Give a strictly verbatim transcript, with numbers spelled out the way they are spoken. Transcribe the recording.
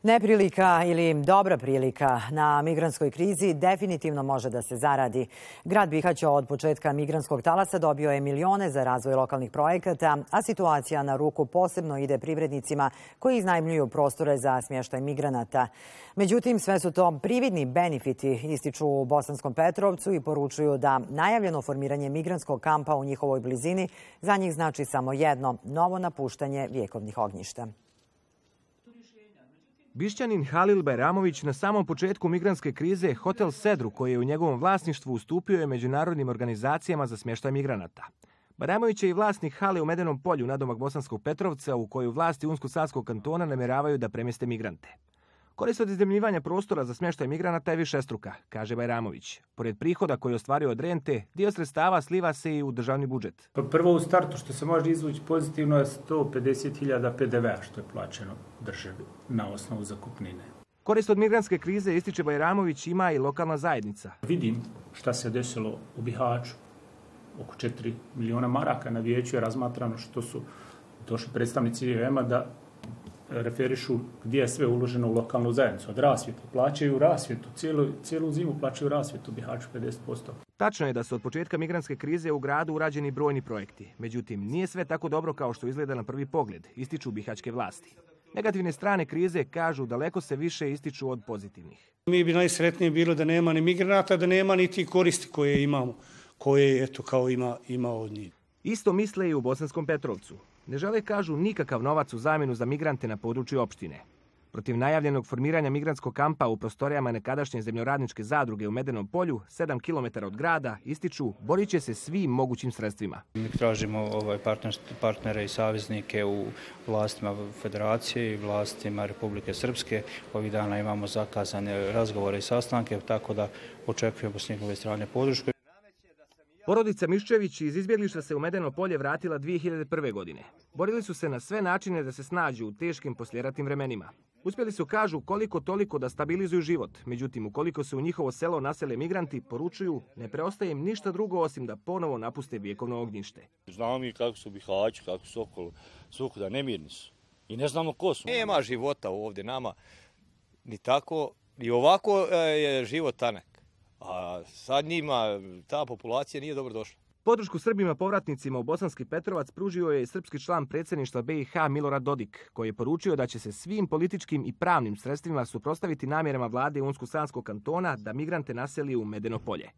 Neprilika ili dobra prilika na migrantskoj krizi definitivno može da se zaradi. Grad Bihać od početka migrantskog talasa dobio je milione za razvoj lokalnih projekata, a situacija na ruku posebno ide privrednicima koji iznajmljuju prostore za smještaj migranata. Međutim, sve su to prividni benefiti, ističu u Bosanskom Petrovcu i poručuju da najavljeno formiranje migrantskog kampa u njihovoj blizini za njih znači samo jedno – novo napuštanje vjekovnih ognjišta. Bišćanin Halil Bajramović na samom početku migrantske krize Hotel Sedru, koji je u njegovom vlasništvu, ustupio je međunarodnim organizacijama za smještaj migranata. Bajramović je i vlasnik hale u Medenom polju nadomak Bosanskog Petrovca, u koju vlasti Unsko-Sanskog kantona namjeravaju da premjeste migrante. Korist od iznajmljivanja prostora za smještaj migranata je višestruka, kaže Bajramović. Pored prihoda koji je ostvario od rente, dio sredstava sliva se i u državni budžet. Prvo u startu što se može izvući pozitivno je sto pedeset hiljada P D V-a što je plaćeno državi na osnovu zakupnine. Korist od migrantske krize, ističe Bajramović, ima i lokalna zajednica. Vidim šta se desilo u Bihaću. Oko četiri miliona maraka na vijeću je razmatrano što su došli predstavnici I O M-a da referišu gdje je sve uloženo u lokalnu zajednicu. Od rasvjetu plaćaju rasvjetu, cijelu, cijelu zimu plaćaju rasvjetu u Bihaću pedeset posto. Tačno je da su od početka migrantske krize u gradu urađeni brojni projekti. Međutim, nije sve tako dobro kao što izgleda na prvi pogled, ističu bihaćke vlasti. Negativne strane krize, kažu, daleko se više ističu od pozitivnih. Mi bi najsretnije bilo da nema ni migranata, da nema ni ti koristi koje imamo, koje eto kao ima, ima od njih. Isto misle i u Bosanskom Petrovcu. Ne žele, kažu, nikakav novac u zamjenu za migrante na području opštine. Protiv najavljenog formiranja migrantskog kampa u prostorijama nekadašnje zemljoradničke zadruge u Medenom polju, sedam kilometara od grada, ističu, borit će se svim mogućim sredstvima. Mi tražimo ovaj partnere i saveznike u vlastima Federacije i vlastima Republike Srpske. Ovih dana imamo zakazane razgovore i sastanke, tako da očekujemo s njihove strane podršku. Porodica Miščević iz izbjeglišta se u Medeno polje vratila dvije hiljade prve. godine. Borili su se na sve načine da se snađu u teškim posljeratnim vremenima. Uspjeli su, kažu, koliko toliko da stabilizuju život. Međutim, ukoliko se u njihovo selo nasele migranti, poručuju, ne preostaje im ništa drugo osim da ponovo napuste vjekovno ognjište. Znamo mi kako su Bihaći, kako su okolo svukuda, nemirni su. I ne znamo ko su. Nema života ovdje nama, ni tako, ni ovako je život tanak. A sad njima ta populacija nije dobro došla. Podršku Srbima povratnicima u Bosanski Petrovac pružio je i srpski član predsjedništva B i H Milorad Dodik, koji je poručio da će se svim političkim i pravnim sredstvima suprotstaviti namjerama vlade Unsko-Sanskog kantona da migrante naseli u Medeno polje.